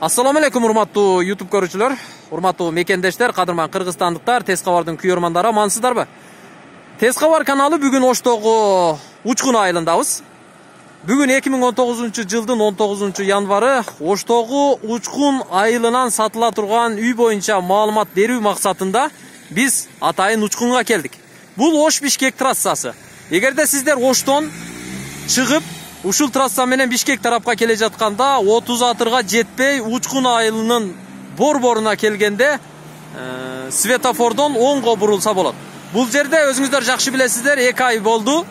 Assalomu alaykum urmatуу YouTube көрүүчүлөр, урматтуу мекендештер, кадырман кыргызстандыктар, Тез кабардын күйөрмандары, амансыздарбы? Тез кабар каналы бүгүн Оштогу Учкун айылындабыз. Бүгүн 2019 жылдын 19 январы Оштогу Учкун айылынан сатыла турган үй боюнча маалымат берүү максатында биз атайын Учкунга келдик. Бул Ош-Бишкек трассасы. Эгерде сиздер Оштон чыгып ушул трасса менен Бишкек тарапка келе жатканда 30 атырга жетпей Учкун айылынын борборуна келгенде светофордон оңго бурулса болот. Бул жерде өзүңүздөр жакшы билесиздер, 2 ай болду.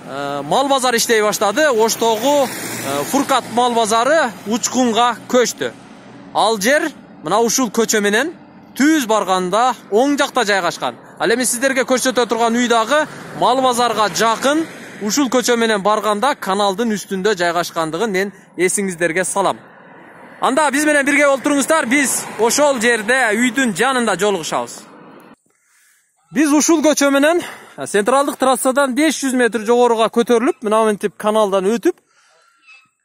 Мал базар иштей баштады. Оштогу Фуркат мал базары Учкунга көчтү. Ал жер мына ушул көчө менен түз барганда оң жакта жайгашкан. Ал эми сиздерге көрсөтө турган үй дагы мал базарга жакын. Ушул көчө менен барганда каналдын үстүндө жайгашкандыгын мен эсиңиздерге салам. Анда биз менен бирге болуп туруңуздар. Биз ошол жерде үйдүн жанында жолугушабыз. Биз ушул көчө менен централдык трассадан 500 метр жогоруга көтөрүлүп, мына мынтип каналдан өтүп,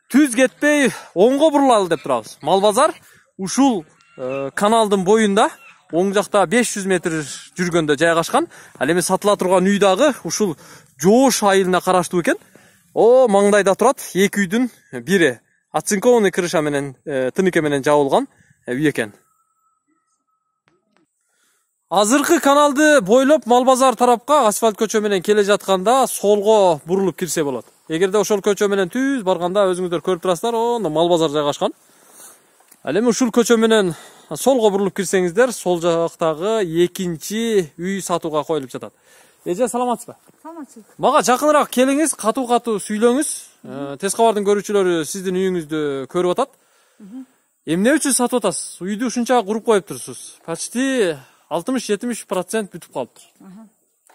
түз кетпей оңго бурулалы деп турабыз. Мал базар ушул каналдын боюнда оң жакта 500 метр жүргөндө жайгашкан. Ал эми сатыла турган үй дагы ушул Жоош айылына караштуу экен. О, маңдайда турат. 2 үйдүн бири оцинкованный крыша менен, тыныке менен жабылган үй экен. Азыркы каналды бойлоп мал базар тарапка асфальт көчө менен келе жатканда солго бурулуп кирсе болот. Эгерде ошол көчө менен түз барганда өзүңүздөр көрүп турасыздар, онда мал базар жайгашкан. Ал эми ушул көчө менен солго бурулуп кирсеңиздер, сол жактагы экинчи үй сатууга коюлуп жатат. Эже, саламатсызбы? Саламатсыз. Мага жакыныраак келиңиз, катуу-катуу сүйлөңүз. Тез кабардын көрүүчүлөрү сиздин үйүңүздү көрүп атат. Эмне үчүн сатып атасыз? Үйдү ушунча куруп коюп турсуз. Почти 60-70% бүтүп калыптыр.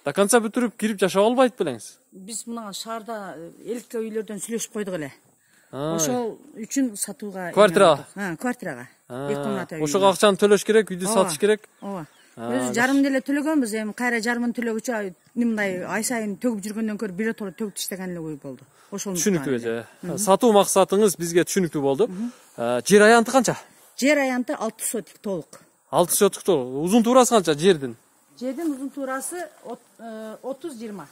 До конца бүтүрүп кирип жашап албайт белеңиз. Биз мына шаарда электр үйлөрдөн сүйлөшүп койдук эле. Ошол үчүн сатууга. Квартирага. Квартирага. 2 комната үй. Ошого акчаны төлөш керек, үйдү сатыш керек. Ооба. Өзү жарым деле төлөгөнбүз, эми кайра жарымын төлөгүчө мындай ай сайын төгүп жүргөндөн көрүп биротоло төгүп иштеген эле ой болду. Ошол түшүнүктүү эже. Сатуу максатыңыз бизге түшүнүктүү болду. Жер аянты канча? Жер аянты 6 сотик толук. 6 сотик толук. Узун туурасы канча жердин? Жердин узун туурасы 30-20.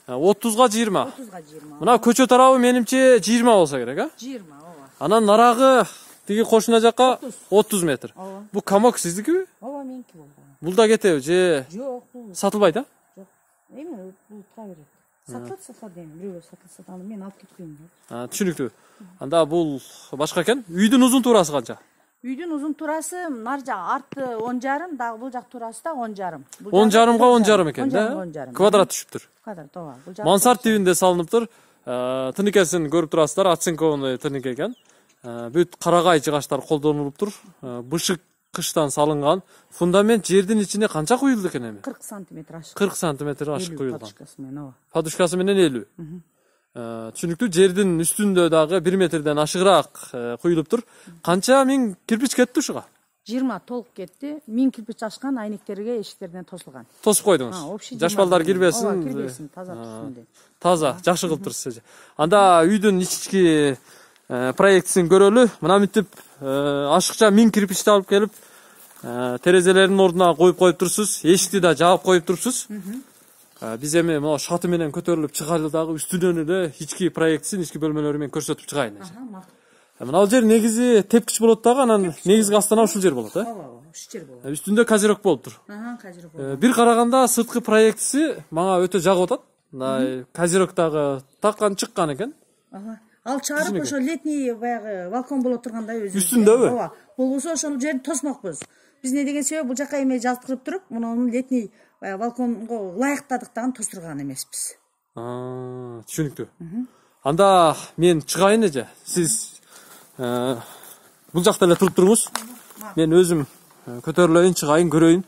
30га 20. 30га 20. Мына көчө тарабы менимче 20 болсо керек, а? 20, ооба. Анан нарагы тиги кошуна жакка 30 метр. Бул камок сиздикиби? Ооба, меники болду. Бул да кетеби же? Жок, сатылбайт, а? Жок. Эми бул тура берет. Сатылса дейм, бирөө сатылса да мен алып кетпейм. Түшүнүктүү. Анда бул башка экен. Үйдүн узун туурасы канча? Үйдүн узун туурасы нар жак арты 10,5, дагы бул жак туурасы да 10,5. 10,5га 10,5 экен да? Квадрат түшүптүр. Квадрат, ооба. Мансард тибинде салыныптыр. Тыныкесин көрүп турасыздар, оцинкованный тынык экен. Бүт карагай жыгачтар колдонулуптур. Бышык кыштан салынган. Фундамент жердин ичине канча куюлду экен эми? 40 сантиметр ашык. 40 сантиметр ашык куюлган. Подушкасы менен, ооба. Подушкасы менен 50. Түшүнүктүү. Жердин үстүндө дагы 1 метрден ашыгыраак куюлуптур. Канча миң кирпич кетти ушуга? 20 толук кетти. 1000 кирпич ашкан, айнектерге, эшиктерден тосулган. Тосуп койдуңуз. Жаш балдар кирбесин. Ооба, кирбесин, таза турсун деп. Таза, жакшы кылыптырсыз. Анда үйдүн ички проектисин көрөлү. Мына мынтип ашыкча 1000 кирпичти алып келип, терезелердин ордуна коюп турсуз. Эшикти да жаап коюп турсуз. Биз эми могу шаты менен көтөрүлүп чыгайлы дагы үстүнөн эле ички проектисин, ички бөлмөлөрү менен көрсөтүп чыгайын. Мына жер негизи тепкич болот дагы, анан негизги астана ушул жер болот, Ооба, ушул жер болот. Үстүндө козерок болуптур. Козерок болот. Бир караганда сырткы проектиси мага өтө жагып атат. Мындай козерок дагы таккан чыккан экен. Ал чыгарып ошо летний баягы балкон боло тургандай өзү. Үстүндөбү? Ооба. Болбосо ошол жерди тосмокпуз. Биз не деген себеп бул жака эме жаздырып туруп, мунун летний балконго ылайыктадыктан тостурган эмеспиз. Түшүнүктүү. Анда мен чыгайын эже. Сиз бул жакта эле туруп туруңуз. Мен өзүм көтөрүлөйүн, чыгайын, көрөйүн.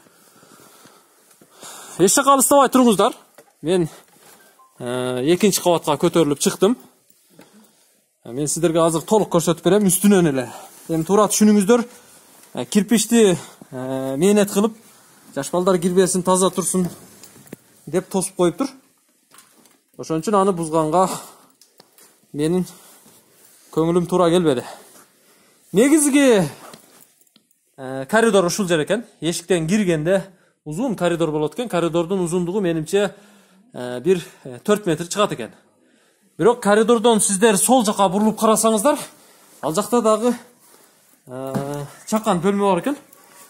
Эч жака алыстабай туруңуздар. Мен экинчи кабатка көтөрүлүп чыктым. Мен сиздерге азыр толук көрсөтүп берем үстүнөн эле. Эми туура түшүнүңүздөр. Кирпичти мээнет кылып, жаш балдар кирбесин, таза турсун деп тосуп коюптур. Ошон үчүн аны бузганга менин көңүлүм туура келбеди. Негизги коридор ушул жер экен. Эшиктен киргенде узун коридор болот экен. Коридордун узундугу менимче бир 4 метр чыгат экен. Бирок коридордон сиздер сол жака бурулуп карасаңыздар, ал жакта дагы чакан бөлмө бар экен.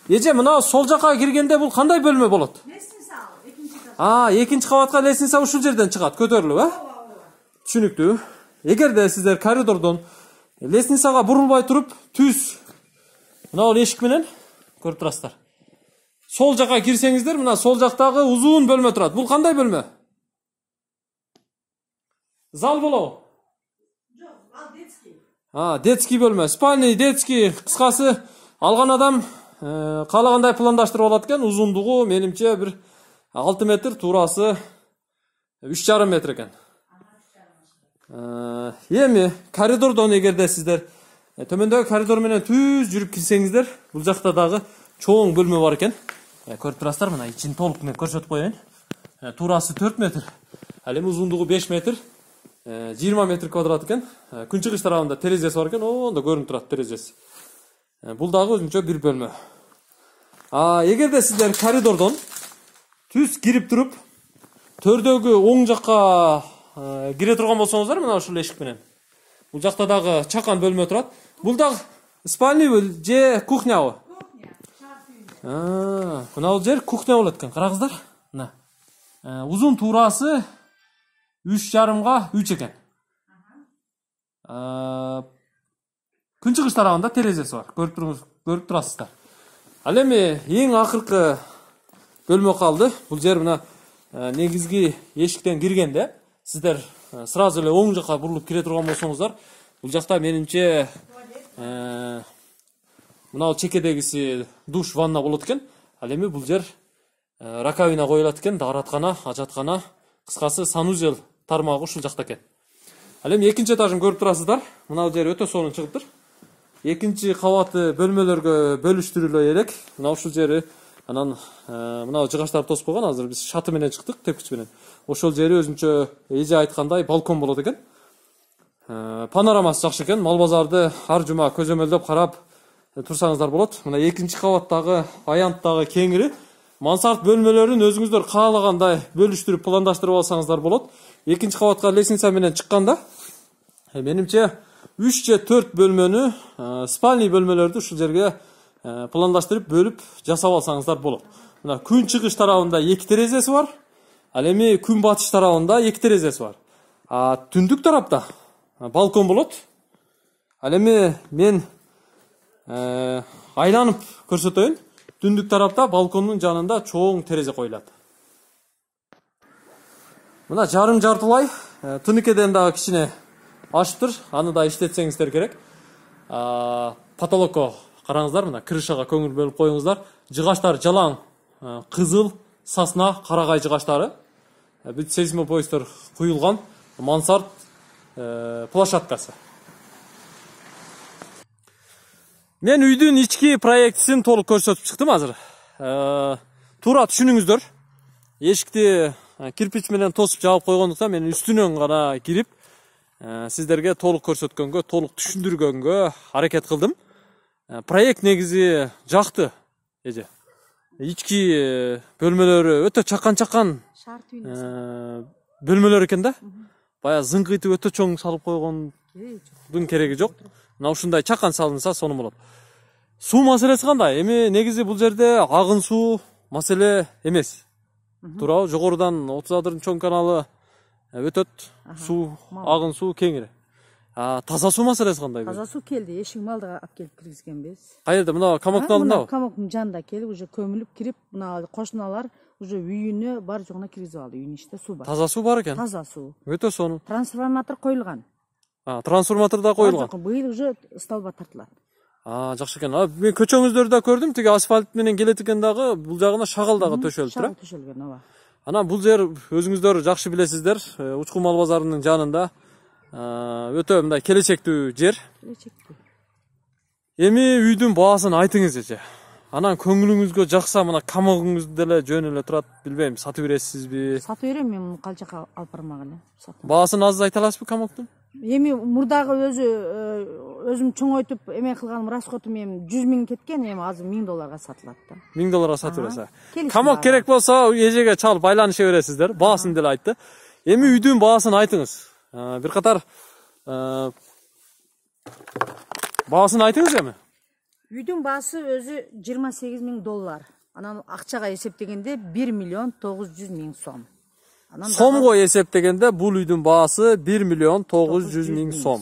Эже, мына сол жака киргенде бул кандай бөлмө болот? Лестница, экинчи кат. Экинчи кабатка лестница ушул жерден чыгат, көтөрүлүп, Түшүнүктүү. Эгерде сиздер коридордон лестницага бурулбай туруп, түз мына бул эшик менен көрүп турасыздар. Сол жака кирсеңиздер, мына сол жактагы узун бөлмө турат. Бул кандай бөлмө? Зал болобу? Жок, ал детский. Детский бөлмө. Спальный, детский, кыскасы алган адам каалагандай пландаштырып алат экен. Узундугу менимче бир 6 метр, туурасы 3,5 метр экен. Эми коридордон эгерде сиздер төмөндөгү коридор менен түз жүрүп кирсеңиздер, бул жакта дагы чоң бөлмө бар экен. Көрүп турасыздар, мына ичин толук мен көрсөтүп коеюн. Туурасы 4 метр, ал эми узундугу 5 метр, 20 метр квадрат экен. Күнчыгыш тарабында терезеси бар экен, ондо көрүнүп турат терезеси. Бул дагы өзүнчө бир бөлмө. Эгерде сиздер коридордон түз кирип туруп, төрдөгү оң жакка кире турган болсоңуздар, мына ушул эшик менен. Бул жакта дагы чакан бөлмө турат. Бул дагы спальный же кухнябы? Кухня, шарт үйүндө. Мына бул жер кухня болот экен. Караңыздар. Мына. Узун туурасы 3,5га 3 экен. Күнчыгыш тарабында терезеси бар. Көрүп турасыздар. Ал эми эң акыркы бөлмө калды. Бул жер мына негизги эшиктен киргенде сиздер сразу эле оң жакка бурулуп кире турган болсоңуздар, бул жакта менимче мына чекедегиси душ, ванна болот экен. Ал эми бул жер раковина коюлат экен, даараткана, ажаткана, кыскасы санузел тармагы ушул жакта экен. Ал эми экинчи этажын көрүп турасыздар. Мына бул жер өтө сонун чыгыптыр. Экинчи кабаты бөлмөлөргө бөлүштүрүлө элек. Мына ушул жери анан мына жыгачтарды тосуп койгон. Азыр биз шаты менен чыктык, тепкич менен. Ошол жери өзүнчө эже айткандай балкон болот экен. Панорамасы жакшы экен. Мал базарды ар жума көзөмөлдөп карап турсаңыздар болот. Мына экинчи кабаттагы аянттагы кеңири мансард бөлмөлөрүн өзүңүздөр каалагандай бөлүштүрүп пландаштырып алсаңыздар болот. Экинчи кабатка лестница менен чыкканда менимче 3 же 4 бөлмөнү, спальный бөлмөлөрдү ушул жерге пландаштырып бөлүп жасап алсаңыздар болот. Мына күн чыгыш тарабында 2 терезеси бар. Ал эми күн батыш тарабында 2 терезеси бар. Түндүк тарапта балкон болот. Ал эми мен айланып көрсөтөйүн. Түндүк тарапта балкондун жанында чоң терезе коюлат. Мына жарым жартылай тыныкеден дагы кичине ашыптыр. Аны да иштетсеңиздер керек. Потолокко караңыздар, мына крышага көңүл бөлүп коюңуздар. Жыгачтар жалаң, кызыл, сасна, карагай жыгачтары. Бүт сейсмопоисттер куюлган мансард площадкасы. Мен үйдүн ички проектисин толук көрсөтүп чыктым азыр. Туура түшүнүңүздөр. Эшикти кирпич менен тосуп жаап койгондуктан мен үстүнөн гана кирип сиздерге толук көрсөткөнгө, толук түшүндүргөнгө аракет кылдым. Проект негизи жакты, эже. Ички бөлмөлөрү өтө чакан бөлмөлөр экен да. Бая зыңкыйтып өтө чоң салып койгондун кереги жок. Мына ушундай чакан салынса сонун болот. Суу маселеси кандай? Эми негизи бул жерде агын суу маселе эмес. Туурабы? Жогорудан 30 адырдын чоң каналы өтөт. Суу, агын суу кеңири. Таза суу маселеси кандай? Таза суу келди. Эшик малды алып келип киргизгенбиз. Каерде? Мына камоктун алдындабы? Камоктун жанында келип, уже көмүлүп кирип, мына кошуналар уже үйүнө бар жогуна киргизип алды. Үйүнүн ичинде суу бар. Таза суу бар экен. Таза суу. Өтө сонун. Трансформатор коюлган. Трансформатор да коюлган. Быйыл уже столба тартылат. Жакшы экен. Мен көчөңүздөрдү да көрдүм, тиги асфальт менен келет экен дагы, бул жагына шагал дагы төшөлүп тура. Төшөлгөн, ооба. Анан бул жер өзүңүздөр жакшы билесиздер, Учкун мал базарынын жанында өтө мындай келечектүү жер. Келечектүү. Эми үйдүн баасын айтыңыз эже. Анан көңүлүңүзгө жакса, мына камогуңуз деле жөн эле турат, билбейм, сатып бересизби? Сатып берем, мен муну калчакка алып бармак эле. Баасын аз айта аласызбы камоктун? Эми мурдагы өзү өзүм чоңойтуп эме кылганым расходум эми 100 000 кеткен, эми азыр $1000 сатылат да. $1000 сатып бересиз. Камок керек болсо эжеге чалып байланыша бересиздер. Баасын деле айтты. Эми үйдүн баасын айтыңыз. Бир катар баасын айтыңыз эми. Үйдүн баасы өзү $28,000. Анан акчага эсептегенде 1,900,000 сом. Сомго эсептегенде бул үйдүн баасы 1,900,000 сом.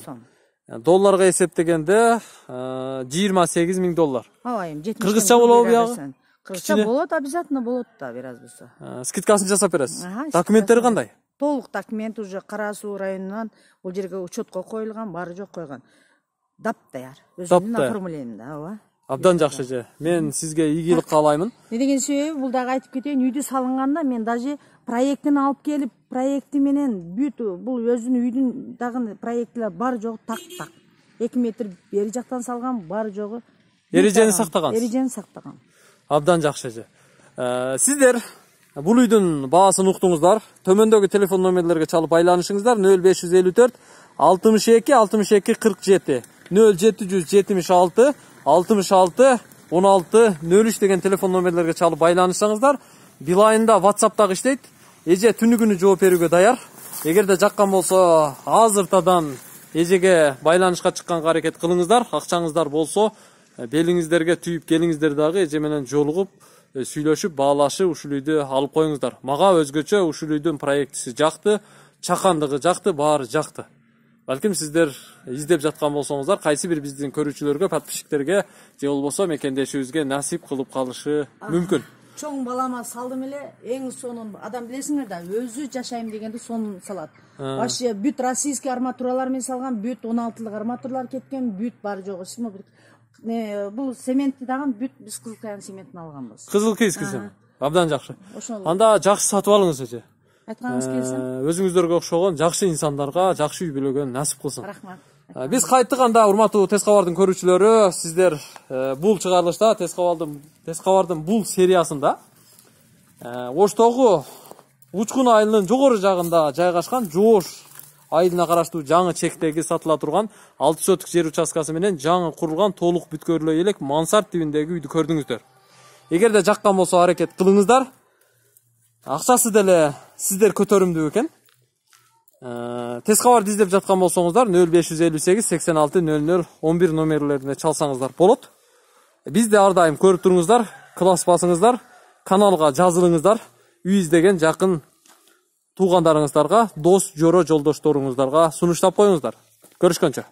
Долларга эсептегенде $28,000. Ооба, эми кыргызча болобу бuyагы? Кыргызча болот, обязательно болот да, бир аз болсо. Скидкасын жасап бересиз. Документтери кандай? Толук документ уже Кара Суу районунан бул жерге учетко коюлган, баары жок койгон. Дап даяр. Өзүнүн оформлениеинде, ооба. Абдан жакшы же. Мен сизге ийгилик каалаймын. Не деген себеби, бул дагы айтып кетейин, үйдү салынганда мен даже проектин алып келип, проекти менен бүт бул өзүнүн үйдүн дагы проектилер бар жогу так. 2 метр бери жактан салган, бар жогу Эрежени сактаган. Эрежени сактаган. Абдан жакшы же. Сиздер бул үйдүн баасын уктуңуздар. Төмөндөгү телефон номерлерге чалып байланышыңыздар. 0554 62 62 47 0776 66 16 03 деген телефон номерлерге чалып байланышсаңыздар, Билайында WhatsApp'тагы иштейт. Эже түнүгүнү жооп берүүгө даяр. Эгерде жаккан болсо, азыртадан эжеге байланышка чыкканга аракет кылыңыздар. Акчаңыздар болсо, белиңиздерге түйүп келиңиздер дагы эже менен жолугуп, сүйлөшүп, баалашып, ушул үйдү алып коюңуздар. Мага өзгөчө ушул үйдүн проектиси жакты, чакандыгы жакты, баары жакты. Балким сиздер издеп жаткан болсоңуздар, кайсы бир биздин көрүүчүлөргө, подписчиктерге же болбосо мекендешибизге насип кылып калышы мүмкүн. Чоң балама салдым эле, эң сонун адам билесиңер да, өзү жашайм дегенде сонун салат. Вообще бүт российский арматуралар менен салган, бүт 16-лык арматуралар кеткен, бүт бар жогу. Бул цементти дагы бүт биз Кызыл Каян цементин алганбыз. Кызыл Кийский цемент. Абдан жакшы. Анда жакшы сатып алыңыз эже. Айтканыңыз келсин. Өзүңүздөргө окшогон жакшы инсандарга жакшы үй бүлөгөн насип кылсын. Рахмат. Биз кайттык анда, урматтуу Тез кабардын көрүүчүлөрү, сиздер бул чыгарылышта Тез кабардын бул сериясында Оштогу Учкун айылынын жогору жагында жайгашкан Жоош айылына караштуу жаңы чектеги сатыла турган 6 соток жер участкасы менен жаңы курулган толук бүткөрлүү элек мансард тибиндеги үйдү көрдүңүздөр. Эгерде жаккан болсо аракет кылыңыздар. Акчасы деле сиздер көтөрүмдүү экен. Тез кабарды издеп жаткан болсоңуздар 0558 86 00 11 номерлерине чалсаңыздар болот. Бизди ар дайым көрүп туруңуздар, класс басыңыздар, каналга жазылыңыздар. Үй издеген жакын туугандарыңыздарга, дос, жоро, жолдошторуңуздарга сунуштап коюңуздар. Көрүшкөнчө.